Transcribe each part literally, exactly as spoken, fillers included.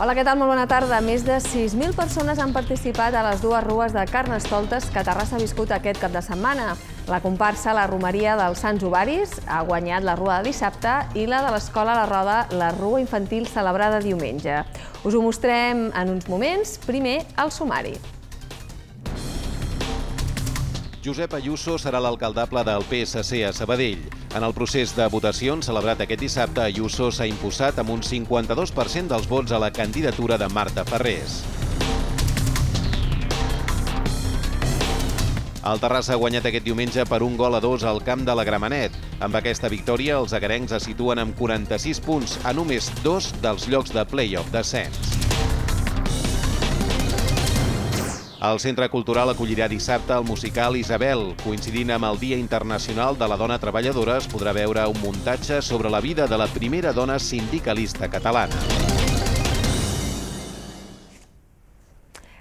Hola, què tal? Molt bona tarda. Més de sis mil persones han participat a les dues rues de Carnestoltes que Terrassa ha viscut aquest cap de setmana. La comparsa La Romeria dels Sants Ovaris ha guanyat la rua de dissabte i la de l'Escola La Roda, la rua infantil celebrada diumenge. Us ho mostrem en uns moments. Primer, el sumari. Josep Ayuso serà l'alcaldable del P S C a Sabadell. En el procés de votacions celebrat aquest dissabte, Ayuso s'ha imposat amb un cinquanta-dos per cent dels vots a la candidatura de Marta Ferrés. El Terrassa ha guanyat aquest diumenge per un gol a dos al camp de la Gramenet. Amb aquesta victòria, els agarencs es situen amb quaranta-sis punts, a només dos dels llocs de play-off d'ascens. El Centre Cultural acollirà dissabte el musical Isabel. Coincidint amb el Dia Internacional de la Dona Treballadora, es podrà veure un muntatge sobre la vida de la primera dona sindicalista catalana.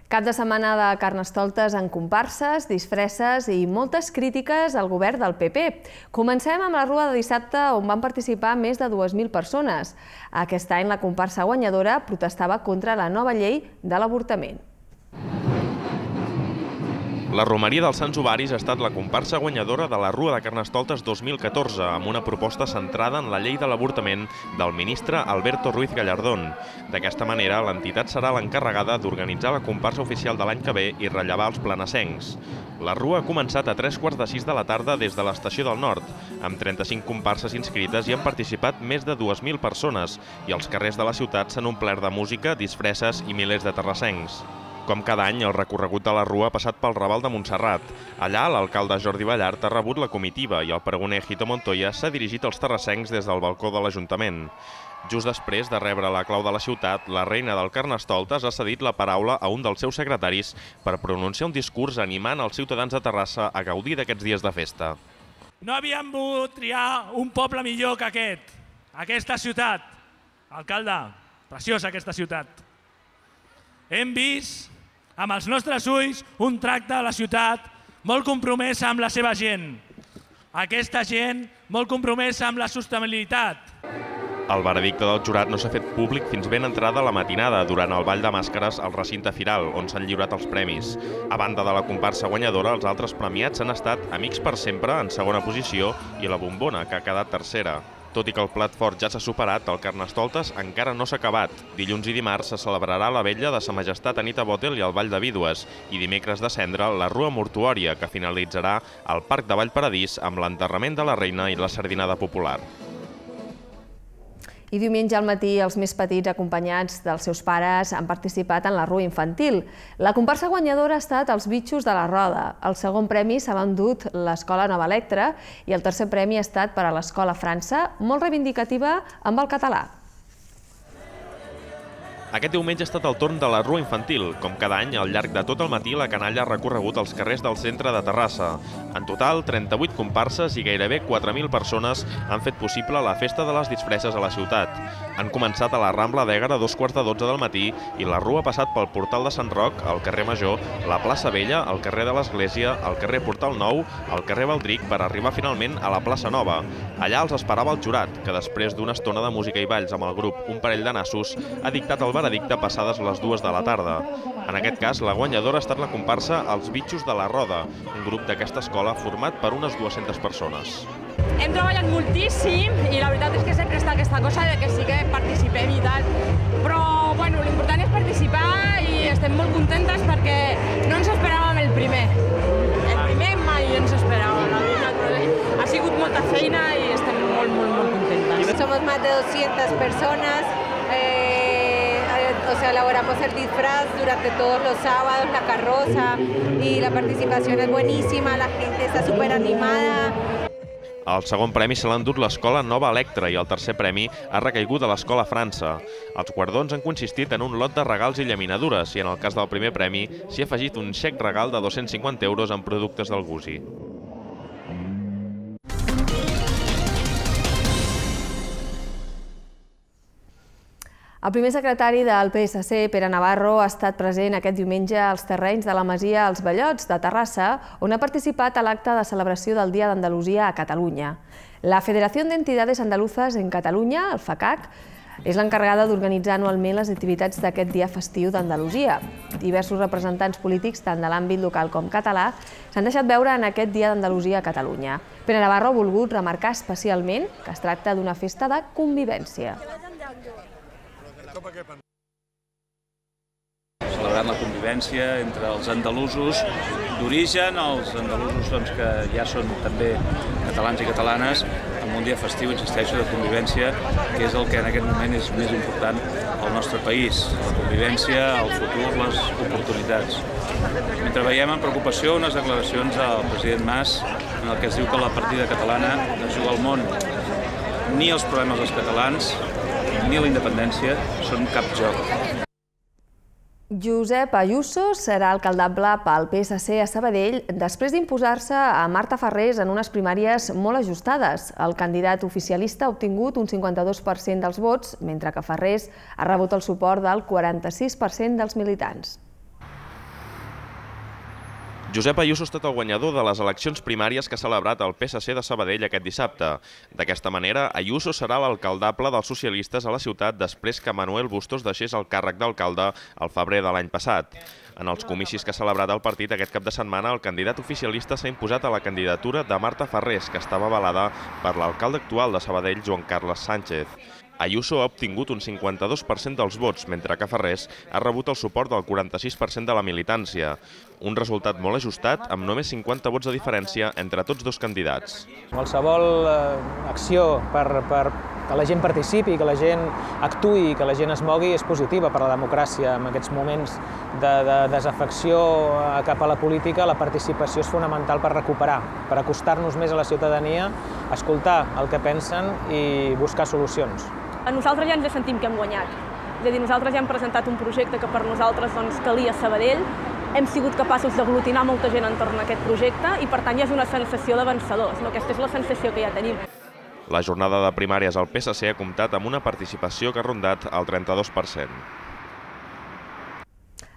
Cap de setmana de Carnestoltes en comparses, disfresses i moltes crítiques al govern del P P. Comencem amb la rua de dissabte, on van participar més de dues mil persones. Aquest any la comparsa guanyadora protestava contra la nova llei de l'avortament. La Romeria dels Sants Ovaris ha estat la comparsa guanyadora de la Rua de Carnestoltes dos mil catorze, amb una proposta centrada en la llei de l'avortament del ministre Alberto Ruiz Gallardón. D'aquesta manera, l'entitat serà l'encarregada d'organitzar la comparsa oficial de l'any que ve i rellevar els planassencs. La Rua ha començat a tres quarts de sis de la tarda des de l'Estació del Nord. Amb trenta-cinc comparses inscrites hi han participat més de dues mil persones i els carrers de la ciutat s'han omplert de música, disfresses i milers de terrassencs. Com cada any, el recorregut de la Rua ha passat pel Raval de Montserrat. Allà, l'alcalde Jordi Ballart ha rebut la comitiva i el pregoner Hito Montoya s'ha dirigit als terrassencs des del balcó de l'Ajuntament. Just després de rebre la clau de la ciutat, la reina del Carnestoltes ha cedit la paraula a un dels seus secretaris per pronunciar un discurs animant els ciutadans de Terrassa a gaudir d'aquests dies de festa. No havíem volgut triar un poble millor que aquest, aquesta ciutat. Alcalde, preciosa aquesta ciutat. Hem vist amb els nostres ulls un tracte a la ciutat molt compromesa amb la seva gent. Aquesta gent molt compromesa amb la sostenibilitat. El veredicte del jurat no s'ha fet públic fins ben entrada la matinada durant el ball de màscares al recinte firal, on s'han lliurat els premis. A banda de la comparsa guanyadora, els altres premiats han estat Amics per Sempre, en segona posició, i La Bombona, que ha quedat tercera. Tot i que el plat fort ja s'ha superat, el Carnestoltes encara no s'ha acabat. Dilluns i dimarts se celebrarà la vetlla de Sa Majestat Anita Botel i el Ball de Vídues, i dimecres de cendre la Rua Mortuòria, que finalitzarà al Parc de Vallparadís amb l'enterrament de la reina i la sardinada popular. I diumenge al matí els més petits, acompanyats dels seus pares, han participat en la rua infantil. La comparsa guanyadora ha estat Els Bitxos de la Roda. El segon premi s'ha endut l'Escola Nova Electra i el tercer premi ha estat per a l'Escola França, molt reivindicativa amb el català. Aquest diumenge ha estat el torn de la Rua Infantil. Com cada any, al llarg de tot el matí, la canalla ha recorregut els carrers del centre de Terrassa. En total, trenta-vuit comparses i gairebé quatre mil persones han fet possible la festa de les disfresses a la ciutat. Han començat a la Rambla d'Ègara a dos quarts de dotze del matí i la Rua ha passat pel Portal de Sant Roc, el carrer Major, la plaça Vella, el carrer de l'Església, el carrer Portal Nou, el carrer Baldric, per arribar finalment a la plaça Nova. Allà els esperava el jurat, que després d'una estona de música i balls amb el grup Un Parell de Nassos, ha dictat el veredicte passades les dues de la tarda. En aquest cas, la guanyadora ha estat la comparsa Els Bitxos de la Roda, un grup d'aquesta escola format per unes dues-centes persones. Hem treballat moltíssim i la veritat és que sempre està aquesta cosa de que sí que participem i tal, però bueno, l'important és participar i estem molt contentes perquè no ens esperàvem el primer. El primer mai ens esperàvem, la veritat, però ha sigut molta feina i estem molt, molt, molt contentes. Somos más de doscientas personas. Eh... O sea, elaboramos el disfraz durante todos los sábados, la carroza, y la participación es buenísima, la gente está súper animada. El segon premi se l'ha endut l'Escola Nova Electra i el tercer premi ha recaigut a l'Escola França. Els guardons han consistit en un lot de regals i llaminadures i en el cas del primer premi s'hi ha afegit un xec regal de dos-cents cinquanta euros en productes del Gusi. El primer secretari del P S C, Pere Navarro, ha estat present aquest diumenge als terrenys de la Masia Els Bellots de Terrassa, on ha participat a l'acte de celebració del Dia d'Andalusia a Catalunya. La Federació d'Entidades Andaluzas en Catalunya, el FACAC, és l'encarregada d'organitzar anualment les activitats d'aquest dia festiu d'Andalusia. Diversos representants polítics, tant de l'àmbit local com català, s'han deixat veure en aquest dia d'Andalusia a Catalunya. Pere Navarro ha volgut remarcar especialment que es tracta d'una festa de convivència. Celebrant la convivència entre els andalusos d'origen, els andalusos que ja són també catalans i catalanes, amb un dia festiu, insisteixo, de convivència, que és el que en aquest moment és més important al nostre país. La convivència, el futur, les oportunitats. Mentre veiem amb preocupació unes declaracions del president Mas en el que es diu que la partida catalana no juga al món. Ni els problemes dels catalans, ni la independència són cap joc. Josep Ayuso serà alcaldable pel P S C a Sabadell després d'imposar-se a Marta Farrés en unes primàries molt ajustades. El candidat oficialista ha obtingut un cinquanta-dos per cent dels vots, mentre que Farrés ha rebut el suport del quaranta-sis per cent dels militants. Josep Ayuso ha estat el guanyador de les eleccions primàries que ha celebrat el P S C de Sabadell aquest dissabte. D'aquesta manera, Ayuso serà l'alcaldable dels socialistes a la ciutat després que Manuel Bustos deixés el càrrec d'alcalde al febrer de l'any passat. En els comicis que ha celebrat el partit aquest cap de setmana, el candidat oficialista s'ha imposat a la candidatura de Marta Farrés, que estava avalada per l'alcalde actual de Sabadell, Joan Carles Sánchez. Ayuso ha obtingut un cinquanta-dos per cent dels vots, mentre que Farrés ha rebut el suport del quaranta-sis per cent de la militància. Un resultat molt ajustat, amb només cinquanta vots de diferència entre tots dos candidats. Qualsevol acció per que la gent participi, que la gent actuï, que la gent es mogui és positiva per a la democràcia. En aquests moments de desafecció cap a la política, la participació és fonamental per recuperar, per acostar-nos més a la ciutadania, escoltar el que pensen i buscar solucions. Nosaltres ja ens sentim que hem guanyat. És a dir, nosaltres ja hem presentat un projecte que per nosaltres calia a Sabadell, hem sigut capaços d'aglutinar molta gent entorn a aquest projecte i per tant ja és una sensació de vencedors. Aquesta és la sensació que ja tenim. La jornada de primàries al P S C ha comptat amb una participació que ha rondat el trenta-dos per cent.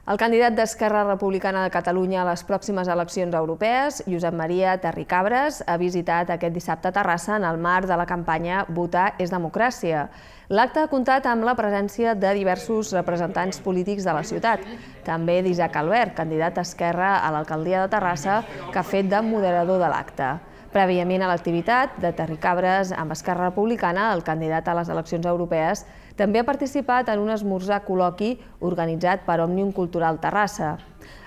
El candidat d'Esquerra Republicana de Catalunya a les pròximes eleccions europees, Josep Maria Terricabras, ha visitat aquest dissabte a Terrassa en el marc de la campanya Votar és democràcia. L'acte ha comptat amb la presència de diversos representants polítics de la ciutat, també d'Isaac Albert, candidat d'Esquerra a l'alcaldia de Terrassa, que ha fet de moderador de l'acte. Prèviament a l'activitat de Terricabras amb Esquerra Republicana, el candidat a les eleccions europees també ha participat en un esmorzar col·loqui organitzat per Òmnium Cultural Terrassa.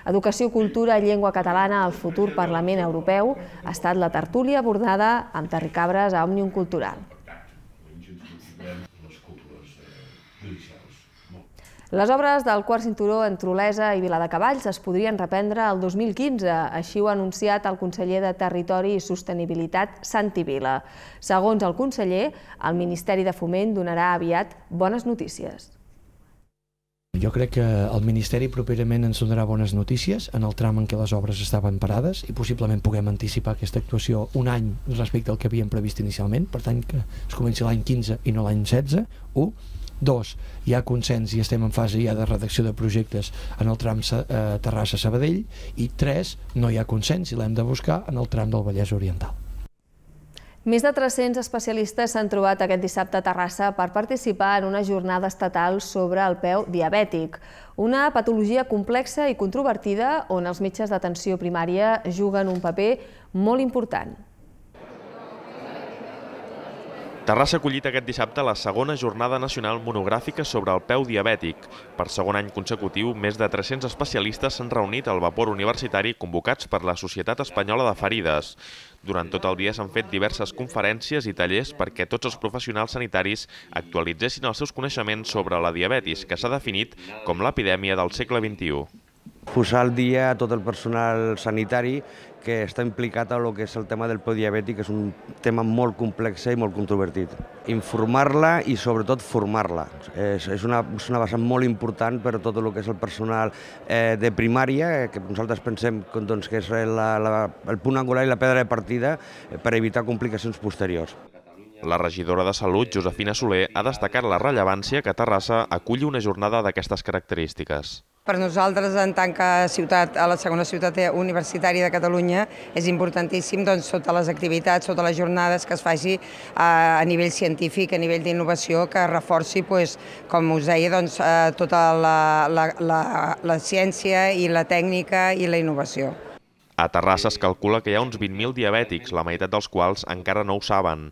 Educació, cultura i llengua catalana al futur Parlament Europeu ha estat la tertúlia abordada amb Terricabras a Òmnium Cultural. Les obres del quart cinturó entre Olesa i Viladecavalls es podrien reprendre el dos mil quinze, així ho ha anunciat el conseller de Territori i Sostenibilitat, Santi Vila. Segons el conseller, el Ministeri de Foment donarà aviat bones notícies. Jo crec que el Ministeri properament ens donarà bones notícies en el tram en què les obres estaven parades i possiblement puguem anticipar aquesta actuació un any respecte al que havíem previst inicialment, per tant que es comenci l'any quinze i no l'any setze, u. Dos, hi ha consens i estem en fase ja de redacció de projectes en el tram Terrassa-Sabadell, i tres, no hi ha consens i l'hem de buscar en el tram del Vallès Oriental. Més de tres-cents especialistes s'han trobat aquest dissabte a Terrassa per participar en una jornada estatal sobre el peu diabètic, una patologia complexa i controvertida on els metges d'atenció primària juguen un paper molt important. Terrassa ha acollit aquest dissabte la segona jornada nacional monogràfica sobre el peu diabètic. Per segon any consecutiu, més de tres-cents especialistes s'han reunit al vapor universitari convocats per la Societat Espanyola de Ferides. Durant tot el dia s'han fet diverses conferències i tallers perquè tots els professionals sanitaris actualitzessin els seus coneixements sobre la diabetis, que s'ha definit com l'epidèmia del segle vint-i-u. Posar al dia tot el personal sanitari que està implicat en el que és el tema del peu diabètic, que és un tema molt complex i molt controvertit. Informar-la i sobretot formar-la. És, és, una, és una vessant molt important per a tot el que és el personal eh, de primària, que nosaltres pensem doncs, que és la, la, el punt angular i la pedra de partida per evitar complicacions posteriors. La regidora de Salut, Josefina Soler, ha destacat la rellevància que Terrassa aculli una jornada d'aquestes característiques. Per nosaltres, en tant que ciutat, a la segona ciutat universitària de Catalunya, és importantíssim doncs, totes les activitats, totes les jornades que es faci a, a nivell científic, a nivell d'innovació, que reforci, pues, com us deia, doncs, tota la, la, la, la ciència i la tècnica i la innovació. A Terrassa es calcula que hi ha uns vint mil diabètics, la meitat dels quals encara no ho saben.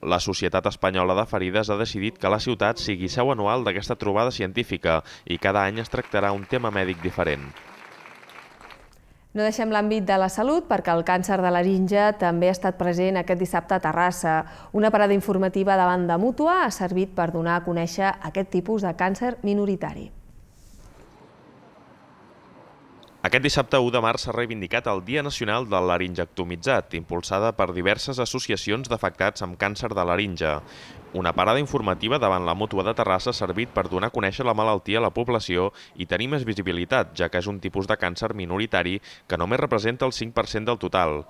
La Societat Espanyola de Ferides ha decidit que la ciutat sigui seu anual d'aquesta trobada científica i cada any es tractarà un tema mèdic diferent. No deixem l'àmbit de la salut perquè el càncer de laringe també ha estat present aquest dissabte a Terrassa. Una parada informativa davant de Mútua ha servit per donar a conèixer aquest tipus de càncer minoritari. Aquest dissabte u de març s'ha reivindicat el Dia Nacional del Laringectomitzat, impulsada per diverses associacions d'afectats amb càncer de laringe. Una parada informativa davant la Mútua de Terrassa ha servit per donar a conèixer la malaltia a la població i tenir més visibilitat, ja que és un tipus de càncer minoritari que només representa el cinc per cent del total.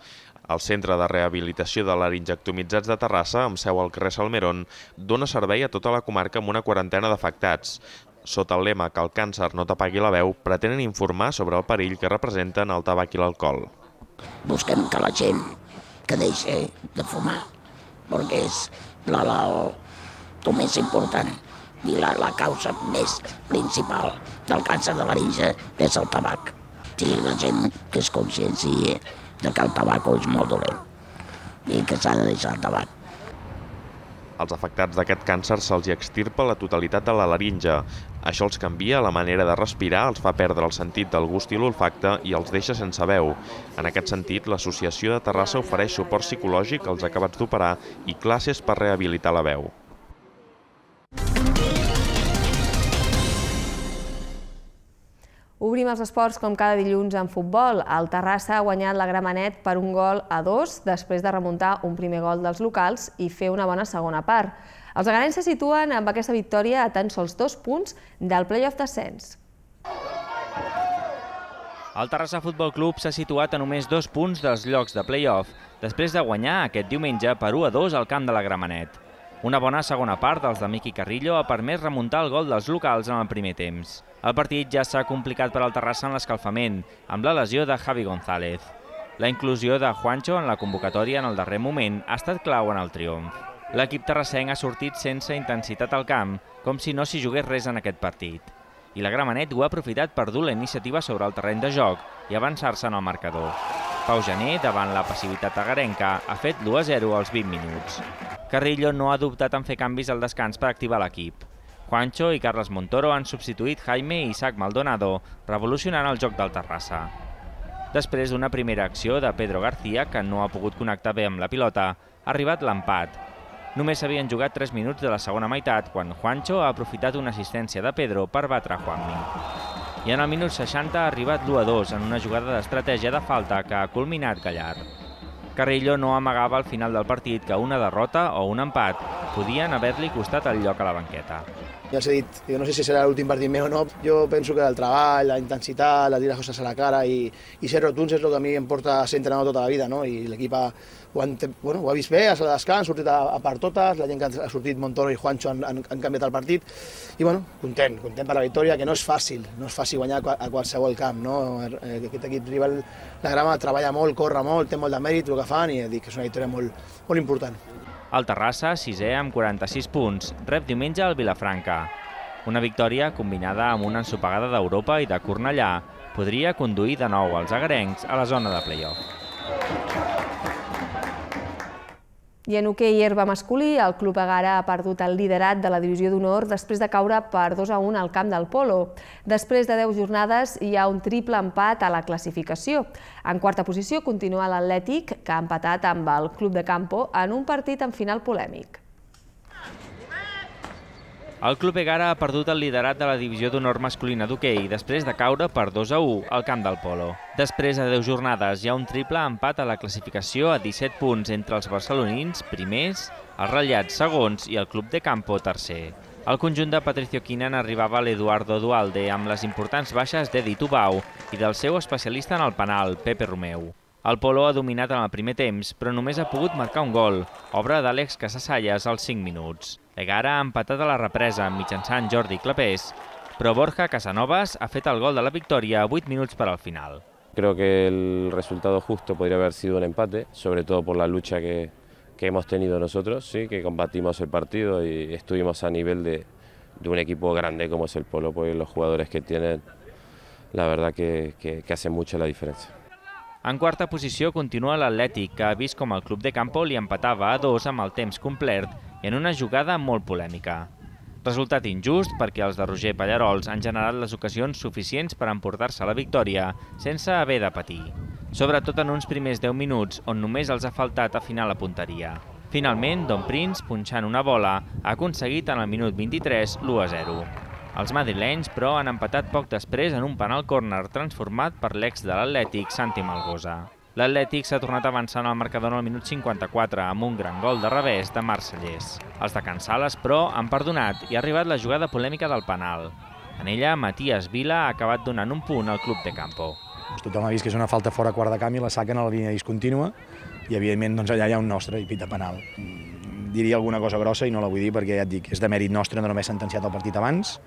El Centre de Rehabilitació de Laringectomitzats de Terrassa, amb seu al carrer Salmerón, dona servei a tota la comarca amb una quarantena d'afectats. Sota el lema que el càncer no t'apagui la veu, pretenen informar sobre el perill que representen el tabac i l'alcohol. Busquem que la gent que deixi de fumar, perquè és la, la, el més important i la, la causa més principal del càncer de laringe és el tabac. Sí, la gent que es conscienciï de que el tabac és molt dolent i que s'ha de deixar el tabac. Als afectats d'aquest càncer se'ls extirpa la totalitat de la laringe. Això els canvia la manera de respirar, els fa perdre el sentit del gust i l'olfacte i els deixa sense veu. En aquest sentit, l'Associació de Terrassa ofereix suport psicològic als acabats d'operar i classes per rehabilitar la veu. Obrim els esports com cada dilluns en futbol. El Terrassa ha guanyat la Gramenet per un gol a dos després de remuntar un primer gol dels locals i fer una bona segona part. Els agarencs se situen amb aquesta victòria a tan sols dos punts del play-off d'ascens. El Terrassa Futbol Club s'ha situat a només dos punts dels llocs de play-off després de guanyar aquest diumenge per u a dos al camp de la Gramenet. Una bona segona part dels de Miqui Carrillo ha permès remuntar el gol dels locals en el primer temps. El partit ja s'ha complicat per al Terrassa en l'escalfament, amb la lesió de Javi González. La inclusió de Juancho en la convocatòria en el darrer moment ha estat clau en el triomf. L'equip terrassenc ha sortit sense intensitat al camp, com si no s'hi jugués res en aquest partit. I la Gramenet ho ha aprofitat per dur la iniciativa sobre el terreny de joc i avançar-se en el marcador. Pau Gené, davant la passivitat agarenca, ha fet l'u a zero als vint minuts. Carrillo no ha dubtat en fer canvis al descans per activar l'equip. Juancho i Carles Montoro han substituït Jaime i Isaac Maldonado, revolucionant el joc del Terrassa. Després d'una primera acció de Pedro García, que no ha pogut connectar bé amb la pilota, ha arribat l'empat. Només s'havien jugat tres minuts de la segona meitat quan Juancho ha aprofitat una assistència de Pedro per batre Juanmi. I en el minut seixanta ha arribat l'u a dos en una jugada d'estratègia de falta que ha culminat Gallar. Carrillo no amagava al final del partit que una derrota o un empat podien haver-li costat el lloc a la banqueta. Ja els he dit, jo no sé si serà l'últim partit meu o no, jo penso que el treball, la intensitat, la dir les coses a la cara i, i ser rotuns és el que a mi em porta a ser entrenador tota la vida, no? I l'equip ha, ho, han, bueno, ho ha vist bé, a la descans, ha sortit a, a part totes, la gent que ha sortit, Montoro i Juancho, han, han, han canviat el partit i bueno, content, content per la victòria, que no és fàcil, no és fàcil guanyar a qualsevol camp, no? Aquest equip rival, la Grama, treballa molt, corre molt, té molt de mèrit el que fan i dic que és una victòria molt, molt important. El Terrassa, sisè amb quaranta-sis punts, rep diumenge al Vilafranca. Una victòria combinada amb una ensopegada d'Europa i de Cornellà podria conduir de nou els agarencs a la zona de play-off. I en hoquei herba masculí, el Club Egara ha perdut el liderat de la divisió d'honor després de caure per dos a un al camp del Polo. Després de deu jornades hi ha un triple empat a la classificació. En quarta posició continua l'Atlètic, que ha empatat amb el Club de Campo en un partit amb final polèmic. El Club Egara ha perdut el liderat de la divisió d'honor masculina d'hoquei després de caure per dos a u al camp del Polo. Després de deu jornades hi ha un triple empat a la classificació a disset punts entre els barcelonins primers, els ratllats segons i el Club de Campo tercer. El conjunt de Patricio Quinan arribava a l'Eduardo Dualde amb les importants baixes d'Edi Tubau i del seu especialista en el penal, Pepe Romeu. El Polo ha dominat en el primer temps, però només ha pogut marcar un gol, obra d'Àlex Casasallas als cinc minuts. Egara ha empatat a la represa mitjançant Jordi Clapés, però Borja Casanovas ha fet el gol de la victòria a vuit minuts per al final. Creo que el resultado justo podría haber sido un empate, sobre todo por la lucha que, que hemos tenido nosotros, ¿sí? Que combatimos el partido y estuvimos a nivel de, de un equipo grande como es el Polo, pues los jugadores que tienen, la verdad que, que, que hacen mucho la diferencia. En quarta posició continua l'Atlètic, que ha vist com el club de Campo li empatava a dos amb el temps complert i en una jugada molt polèmica. Resultat injust perquè els de Roger Pallarols han generat les ocasions suficients per emportar-se la victòria sense haver de patir. Sobretot en uns primers deu minuts on només els ha faltat afinar la punteria. Finalment, Don Prince, punxant una bola, ha aconseguit en el minut vint-i-tres l'u a zero. Els madrilenys, però, han empatat poc després en un penal córner transformat per l'ex de l'Atlètic, Santi Malgosa. L'Atlètic s'ha tornat a avançar en el marcador en el minut cinquanta-quatre amb un gran gol de revés de Marc Cellers. Els de Can Sales, però, han perdonat i ha arribat la jugada polèmica del penal. En ella, Matías Vila ha acabat donant un punt al club de Campo. Tothom ha vist que és una falta fora quart de camp i la saquen a la línia discontínua i, evidentment, doncs, allà hi ha un nostre i pita penal. Diria alguna cosa grossa i no la vull dir perquè, ja et dic, és de mèrit nostre no haver sentenciat el partit abans,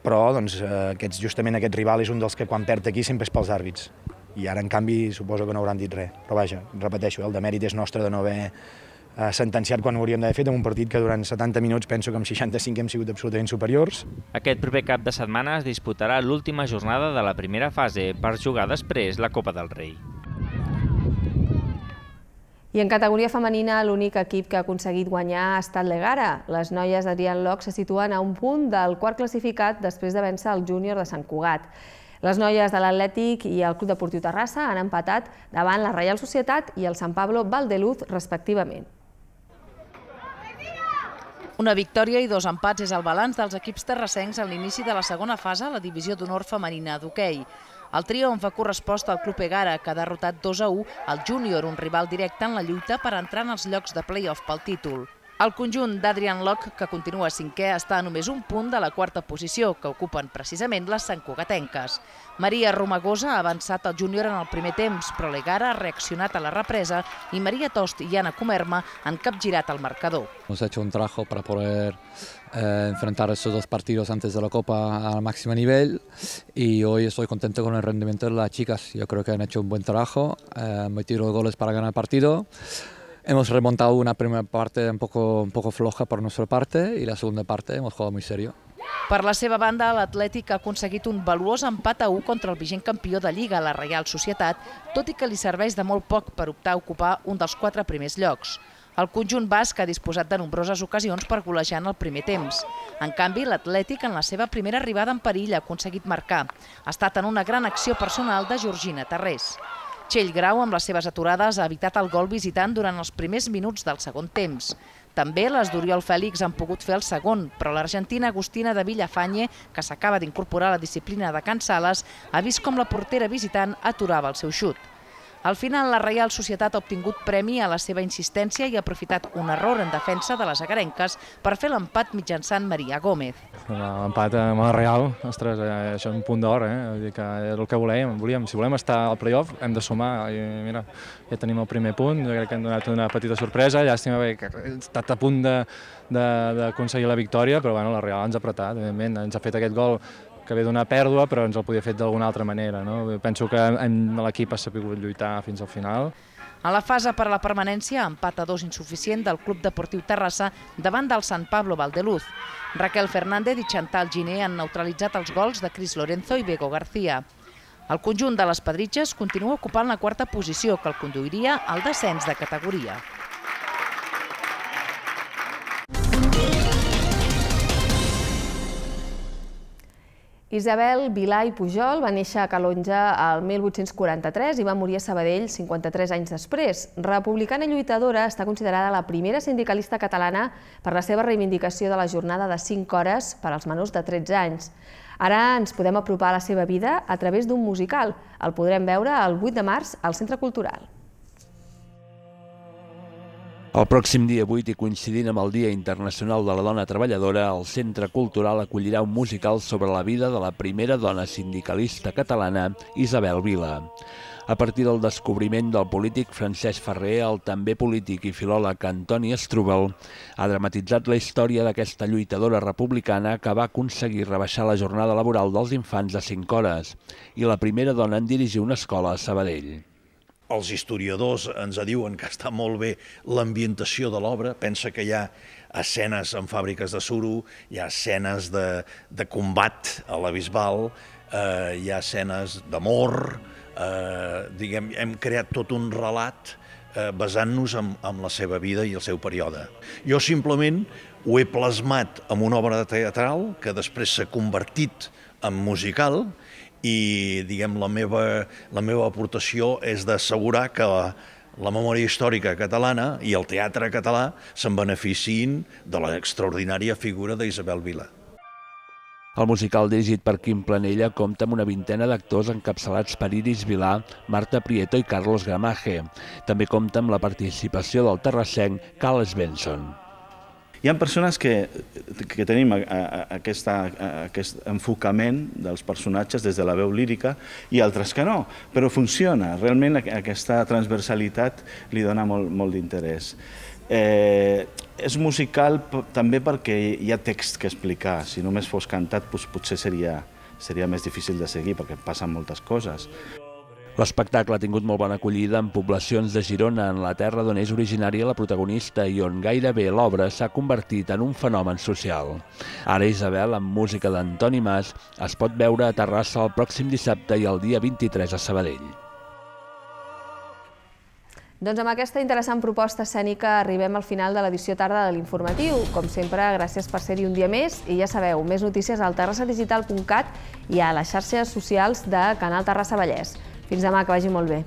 però doncs, aquests, justament aquest rival és un dels que quan perd aquí sempre és pels àrbits. I ara, en canvi, suposo que no hauran dit res. Però vaja, repeteixo, el demèrit és nostre de no haver eh, sentenciat quan ho hauríem d'haver fet en un partit que durant setanta minuts penso que amb seixanta-cinc hem sigut absolutament superiors. Aquest proper cap de setmana es disputarà l'última jornada de la primera fase per jugar després la Copa del Rei. I en categoria femenina, l'únic equip que ha aconseguit guanyar ha estat l'Egara. Les noies d'Adrián Loch se situen a un punt del quart classificat després de vèncer el júnior de Sant Cugat. Les noies de l'Atlètic i el Club Deportiu Terrassa han empatat davant la Reial Societat i el Sant Pablo Valdeluz, respectivament. Una victòria i dos empats és el balanç dels equips terrassencs a l'inici de la segona fase a la divisió d'honor femenina d'hoquei. El triomf ha correspost al Club Egara, que ha derrotat dos a u al júnior, un rival directe en la lluita per entrar en els llocs de play-off pel títol. El conjunt d'Adrián Loch, que continua cinquè, està a només un punt de la quarta posició, que ocupen precisament les santcugatenques. Maria Romagosa ha avançat el júnior en el primer temps, però l'Egara ha reaccionat a la represa i Maria Tost i Anna Comerma han capgirat el marcador. Hemos hecho un trabajo para poder eh, enfrentar estos dos partidos antes de la Copa al máximo nivel y hoy estoy contento con el rendimiento de las chicas. Yo creo que han hecho un buen trabajo, eh, han metido goles para ganar el partido. Hemos remontado una primera parte un poco, un poco floja por nuestra parte y la segunda parte hemos jugado muy serio. Per la seva banda, l'Atlètic ha aconseguit un valuós empat a u contra el vigent campió de Lliga, la Reial Societat, tot i que li serveix de molt poc per optar a ocupar un dels quatre primers llocs. El conjunt basc ha disposat de nombroses ocasions per golejar en el primer temps. En canvi, l'Atlètic, en la seva primera arribada en perill, ha aconseguit marcar. Ha estat en una gran acció personal de Georgina Tarrés. Txell Grau, amb les seves aturades, ha evitat el gol visitant durant els primers minuts del segon temps. També les d'Oriol Fèlix han pogut fer el segon, però l'argentina Agustina de Villafañe, que s'acaba d'incorporar a la disciplina de Can Sales, ha vist com la portera visitant aturava el seu xut. Al final, la Reial Societat ha obtingut premi a la seva insistència i ha aprofitat un error en defensa de les agarenques per fer l'empat mitjançant Maria Gómez. L'empat amb la Real, ostres, això és un punt d'or, eh? Vull dir que és el que volíem. volíem. Si volem estar al play-off hem de sumar. I mira, ja tenim el primer punt, jo crec que hem donat una petita sorpresa, llàstima que he estat a punt d'aconseguir la victòria, però bueno, la Real ens ha apretat, evidentment, ens ha fet aquest gol que ve d'una pèrdua, però ens el podia fer d'alguna altra manera. No? Penso que l'equip ha sabut lluitar fins al final. A la fase per a la permanència, empat a dos insuficient del Club Deportiu Terrassa davant del Sant Pablo Valdeluz. Raquel Fernández i Chantal Giné han neutralitzat els gols de Cris Lorenzo i Bego García. El conjunt de les Pedritxes continua ocupant la quarta posició, que el conduiria al descens de categoria. Isabel Vilà i Pujol va néixer a Calonja el mil vuit-cents quaranta-tres i va morir a Sabadell cinquanta-tres anys després. Republicana i lluitadora, està considerada la primera sindicalista catalana per la seva reivindicació de la jornada de cinc hores per als menors de tretze anys. Ara ens podem apropar a la seva vida a través d'un musical. El podrem veure el vuit de març al Centre Cultural. El pròxim dia vuit, i coincidint amb el Dia Internacional de la Dona Treballadora, el Centre Cultural acollirà un musical sobre la vida de la primera dona sindicalista catalana, Isabel Vila. A partir del descobriment del polític Francesc Ferrer, el també polític i filòleg Antoni Strubel ha dramatitzat la història d'aquesta lluitadora republicana que va aconseguir rebaixar la jornada laboral dels infants a cinc hores i la primera dona en dirigir una escola a Sabadell. Els historiadors ens diuen que està molt bé l'ambientació de l'obra. Pensa que hi ha escenes en fàbriques de suro, hi ha escenes de, de combat a la Bisbal, eh, hi ha escenes d'amor, eh, diguem, hem creat tot un relat eh, basant-nos en, en la seva vida i el seu període. Jo simplement ho he plasmat en una obra teatral que després s'ha convertit en musical, i diguem, la meva, la meva aportació és d'assegurar que la, la memòria històrica catalana i el teatre català se'n beneficiïn de l'extraordinària figura d'Isabel Vila. El musical dirigit per Quim Planella compta amb una vintena d'actors encapçalats per Iris Vilà, Marta Prieto i Carlos Gramaje. També compta amb la participació del terrassenc Carles Benson. Hi ha persones que, que tenim a, a, aquesta, a, aquest enfocament dels personatges des de la veu lírica i altres que no, però funciona. Realment aquesta transversalitat li dona molt, molt d'interès. Eh, és musical també perquè hi ha text que explicar. Si només fos cantat doncs potser seria, seria més difícil de seguir perquè passen moltes coses. L'espectacle ha tingut molt bona acollida en poblacions de Girona, en la terra d'on és originària la protagonista i on gairebé l'obra s'ha convertit en un fenomen social. Ara Isabel, amb música d'Antoni Mas, es pot veure a Terrassa el pròxim dissabte i el dia vint-i-tres a Sabadell. Doncs amb aquesta interessant proposta escènica arribem al final de l'edició tarda de l'Informatiu. Com sempre, gràcies per ser-hi un dia més i ja sabeu, més notícies al terrassa digital punt cat i a les xarxes socials de Canal Terrassa Vallès. Fins demà, que vagi molt bé.